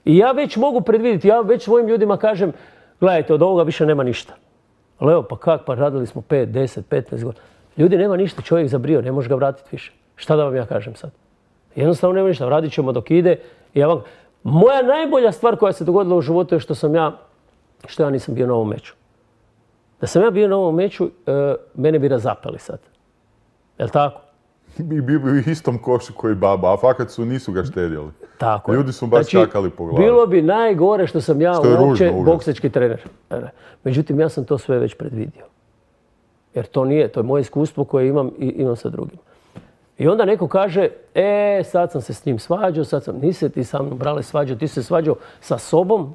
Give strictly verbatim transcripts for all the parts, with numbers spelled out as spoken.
I ja već mogu predvidjeti, ja već svojim ljudima kažem, gledajte, od ovoga više nema ništa. Ali evo, pa kak, pa radili smo pet, deset, petnaest godina. Ljudi, nema ništa, čovjek zabrio, ne može ga vratiti više. Šta da vam ja kažem sad? Jednostavno nema ništa, radit ćemo dok ide. Ja vam... Moja najbolja stvar koja se dogodila u životu je što sam ja, što ja nisam bio na ovom meču. Da sam ja bio na ovom meču, e, mene bi razapeli sad. Jel' tako? I bio bi u istom košu koji baba, a fakat su nisu ga štedjeli. Tako. Ljudi su baš znači, čakali po glavi. Bilo bi najgore što sam ja što uopće boksački trener. Međutim, ja sam to sve već predvidio. Jer to nije, to je moje iskustvo koje imam i imam sa drugima. I onda neko kaže, e, sad sam se s njim svađao, sad sam, nisi ti sa mnom brale svađao, ti se svađao sa sobom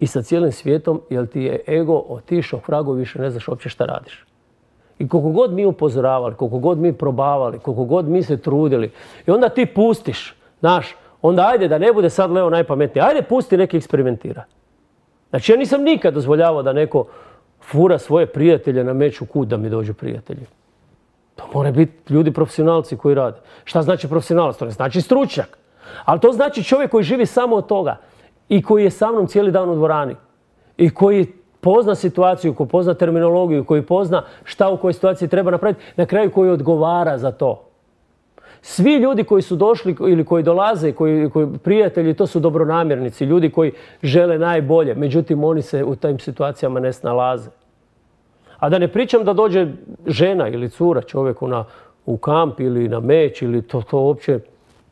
i sa cijelim svijetom, jer ti je ego otišao k vragu i više ne znaš uopće šta radiš. I koliko god mi upozoravali, koliko god mi probavali, koliko god mi se trudili, i onda ti pustiš, znaš, onda ajde da ne bude sad Leo najpametniji, ajde pusti neki eksperimentira. Znači ja nisam nikad dozvoljavao da neko fura svoje prijatelje na meč u kut da mi dođu prijatelji. To moraju biti ljudi profesionalci koji rade. Šta znači profesionalac? To ne znači stručnjak. Ali to znači čovjek koji živi samo od toga i koji je sa mnom cijeli dan u dvorani i koji pozna situaciju, koji pozna terminologiju, koji pozna šta u kojoj situaciji treba napraviti, na kraju koji odgovara za to. Svi ljudi koji su došli ili koji dolaze, koji, koji prijatelji, to su dobronamjernici, ljudi koji žele najbolje. Međutim, oni se u tim situacijama ne snalaze. A da ne pričam da dođe žena ili cura čovjeku na, u kamp ili na meč ili to, to uopće,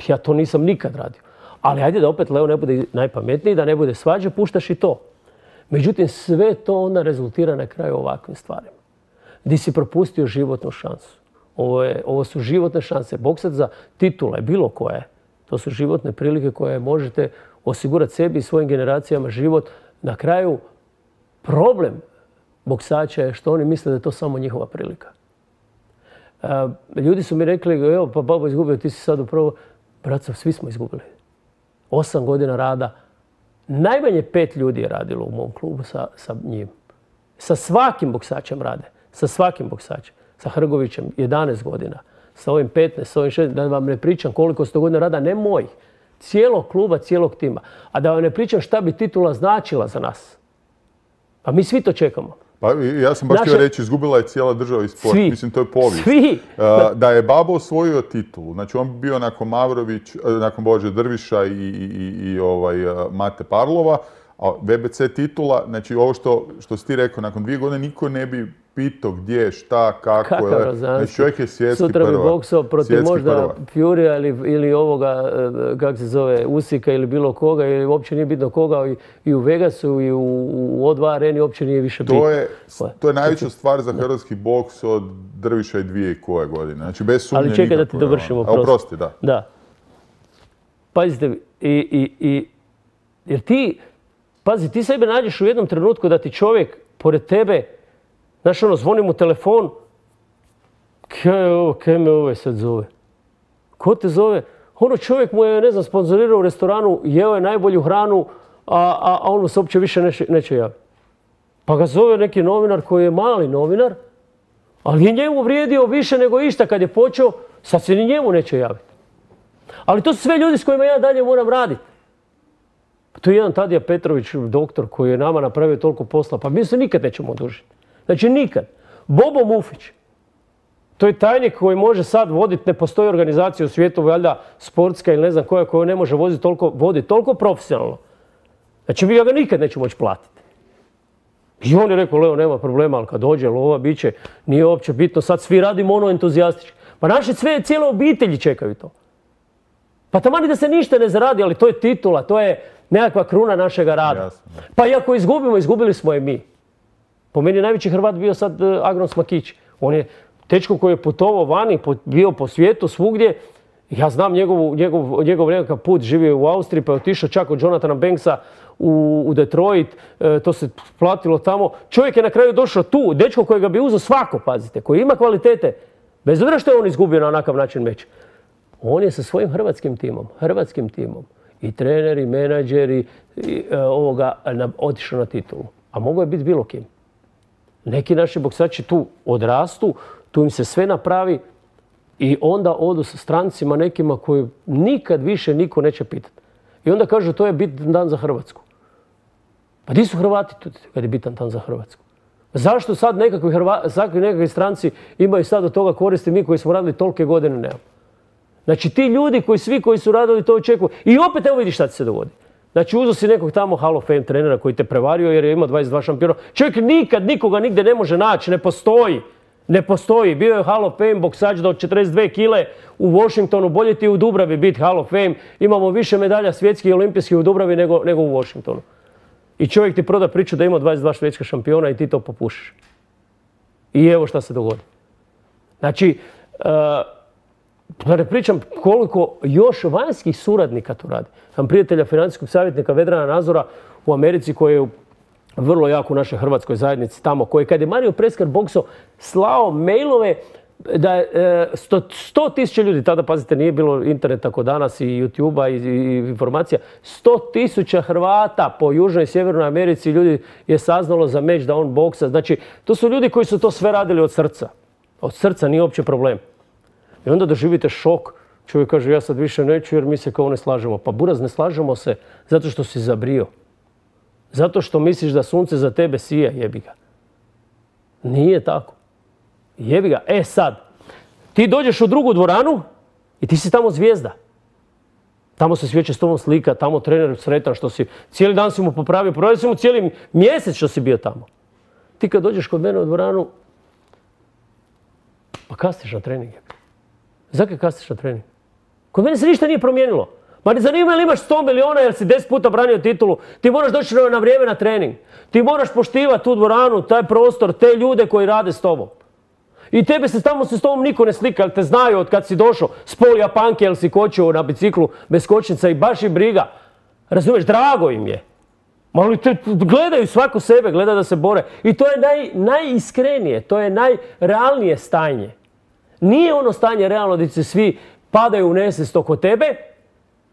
ja to nisam nikad radio. Ali ajde da opet Leo ne bude najpametniji, da ne bude svađa, puštaš i to. Međutim, sve to onda rezultira na kraju ovakvim stvarima. Gdje si propustio životnu šansu. Ovo, je, ovo su životne šanse. Boksat za titule, bilo koje. To su životne prilike koje možete osigurati sebi i svojim generacijama život. Na kraju, problem boksača je što oni misle da je to samo njihova prilika. E, ljudi su mi rekli, evo pa babo izgubio, ti si sad upravo. Braco, svi smo izgubili. Osam godina rada. Najmanje pet ljudi je radilo u mom klubu sa, sa njim. Sa svakim boksačem rade. Sa svakim boksačem. Sa Hrgovićem jedanaest godina. Sa ovim petnaest, sa ovim šesnaest. Da vam ne pričam koliko sto godina rada, ne mojih. Cijelog kluba, cijelog tima. A da vam ne pričam šta bi titula značila za nas. Pa mi svi to čekamo. Pa ja sam baš htio Naše... reći, izgubila je cijela država i sport. Svi. Mislim, to je povijest. Svi. Uh, da je Babo osvojio titulu, znači on bio nakon Mavrović, nakon Bože Drviša i, i, i ovaj, uh, Mate Parlova, a V B C titula, znači ovo što, što si ti rekao, nakon dvije godine niko ne bi pitao gdje, šta, kako. Kakav znači čovjek je svjetski Sutra prva. bi boksao protiv možda Furija ili, ili ovoga, kako se zove, Usika ili bilo koga, ili uopće nije bitno koga, i, i u Vegasu i u, u O dva areni uopće nije više bitno. To je, to je najveća stvar za hrvatski boks od Drviša i dvije i koje godine. Znači bez sumnje nikako. Ali čekaj da ti dovršimo. Oprosti. Oprosti, da. Da. Pazite, i, i, i, jer ti, pazi, ti sebe nađeš u jednom trenutku da ti čovjek pored tebe, znaš ono, zvoni mu telefon, kaj je ovo, kaj me ovaj sad zove? Ko te zove? Ono čovjek mu je, ne znam, sponzorirao u restoranu, jeo je najbolju hranu, a, a, a on mu se uopće više neće, neće javiti. Pa ga zove neki novinar koji je mali novinar, ali je njemu vrijedio više nego išta kad je počeo, sad se ni njemu neće javiti. Ali to su sve ljudi s kojima ja dalje moram raditi. To je jedan Tadija Petrović, doktor, koji je nama napravio toliko posla, pa mi se nikad nećemo odužiti. Znači nikad. Bobo Mufić, to je tajnik koji može sad voditi, ne postoji organizacija u svijetu, valjda sportska ili ne znam koja, koja ne može voditi toliko, voditi toliko profesionalno. Znači mi ga nikad nećemo moći platiti. I on je rekao, Leo, nema problema, ali kad dođe lova, bit će, nije uopće bitno, sad svi radimo ono entuzijastički. Pa naše sve, cijele obitelji čekaju to. Pa tamani da se ništa ne zaradi, ali to je titula, to je nekakva kruna našega rada. Jasno. Pa i ako izgubimo, izgubili smo je mi. Po meni je najveći Hrvat bio sad Agron Smakić. On je tečko koji je putovao vani, bio po svijetu, svugdje. Ja znam njegovu, njegov, njegov nekakav put, živio u Austriji, pa je otišao čak od Jonathana Banksa u, u Detroit. E, to se platilo tamo. Čovjek je na kraju došao tu, dečko kojega bi uzeo svako, pazite, koji ima kvalitete. Bez obzira što je on izgubio na onakav način meč. On je sa svojim hrvatskim timom, hrvatskim timom, i trener, i menadžer, i, i e, ovoga, na, otišao na titulu. A mogo je biti bilo kim. Neki naši boksači tu odrastu, tu im se sve napravi, I onda odu sa strancima nekima koji nikad više niko neće pitati. I onda kažu to je bitan dan za Hrvatsku. Pa di su Hrvati tu kad je bitan dan za Hrvatsku? Zašto sad nekakvi, Hrva, nekakvi stranci imaju sad od toga koristi, mi koji smo radili tolike godine nemamo? Znači ti ljudi koji svi koji su radili to očekuju. I opet evo vidiš šta ti se dogodi. Znači uzo si nekog tamo Hall of Fame trenera koji te prevario jer je imao dvadeset dva šampiona. Čovjek nikad nikoga nigdje ne može naći, ne postoji. Ne postoji. Bio je Hall of Fame boksač do četrdeset dvije kile u Washingtonu. Bolje ti u Dubravi biti Hall of Fame. Imamo više medalja svjetskih i olimpijskih u Dubravi nego, nego u Washingtonu. I čovjek ti proda priču da ima dvadeset dva svjetska šampiona i ti to popušiš. I evo šta se dogodi. Znači, da ne pričam koliko još vanjskih suradnika tu radi. Sam prijatelja financijskog savjetnika Vedrana Nazora u Americi koji je vrlo jak u našoj hrvatskoj zajednici tamo, koji kad je Mario Preskar bokso slao mailove da je sto tisuća ljudi, tada pazite nije bilo interneta kao danas i YouTube-a i, i informacija, sto tisuća Hrvata po Južnoj i Sjevernoj Americi ljudi je saznalo za meč da on boksa. Znači, to su ljudi koji su to sve radili od srca. Od srca nije uopće problem. I onda doživite šok. Čovjek kaže ja sad više neću jer mi se kao ne slažemo. Pa buraz, ne slažemo se zato što si zabrio. Zato što misliš da sunce za tebe sija, jebi ga. Nije tako. Jebi ga. E sad, ti dođeš u drugu dvoranu i ti si tamo zvijezda. Tamo se svi će s tobom slika, tamo trener sretan što si, cijeli dan si mu popravio, popravio si mu cijeli mjesec što si bio tamo. Ti kad dođeš kod mene u dvoranu, pa kasniš na trening. Zakaj kasniš na trening? Kod mene se ništa nije promijenilo. Ma ne zanima li imaš sto miliona jer si deset puta branio titulu. Ti moraš doći na vrijeme na trening. Ti moraš poštivati tu dvoranu, taj prostor, te ljude koji rade s tobom. I tebe se tamo se s tobom niko ne slika, jer te znaju od kad si došao s pol Japanke, jer si kočio na biciklu bez kočnica i baš i briga. Razumiješ, drago im je. Ali te gledaju svako sebe, gleda da se bore. I to je naj, najiskrenije, to je najrealnije stanje. Nije ono stanje realno gdje se svi padaju u nesvijest oko tebe,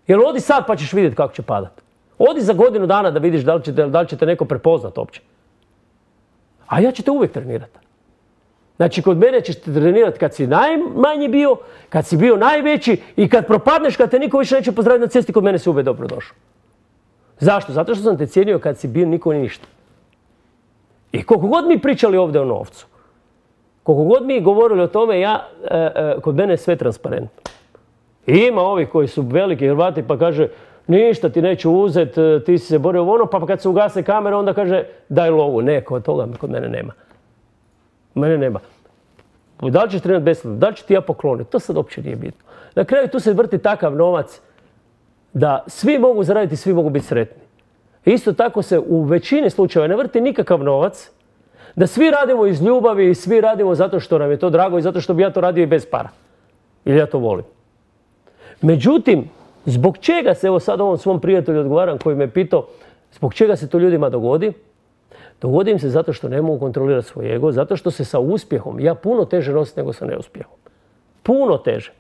jer odi sad pa ćeš vidjeti kako će padati. Odi za godinu dana da vidiš da li će, da li će te neko prepoznat uopće. A ja ću te uvijek trenirati. Znači, kod mene ćeš te trenirati kad si najmanji bio, kad si bio najveći i kad propadneš, kad te niko više neće pozdraviti na cesti, kod mene si uvijek dobro došao. Zašto? Zato što sam te cijenio kad si bio niko ni ništa. I koliko god mi pričali ovdje o novcu, koliko god mi govorili o tome, ja, e, e, kod mene je sve transparentno. I ima ovih koji su veliki Hrvati pa kaže ništa ti neću uzeti, ti si se borio ono, pa kad se ugase kamera onda kaže daj lovu. Ne, kod toga kod mene nema. Mene nema. Da li ćeš trenirati besplatno, da li ću ti ja pokloniti, to sad uopće nije bitno. Na kraju tu se vrti takav novac da svi mogu zaraditi i svi mogu biti sretni. Isto tako se u većini slučajeva ne vrti nikakav novac, da svi radimo iz ljubavi i svi radimo zato što nam je to drago i zato što bi ja to radio i bez para. Ili ja to volim. Međutim, zbog čega se, evo sad ovom svom prijatelju odgovaram koji me pitao, zbog čega se to ljudima dogodi? Dogodi im se zato što ne mogu kontrolirati svoj ego, zato što se sa uspjehom ja puno teže nosim nego sa neuspjehom. Puno teže.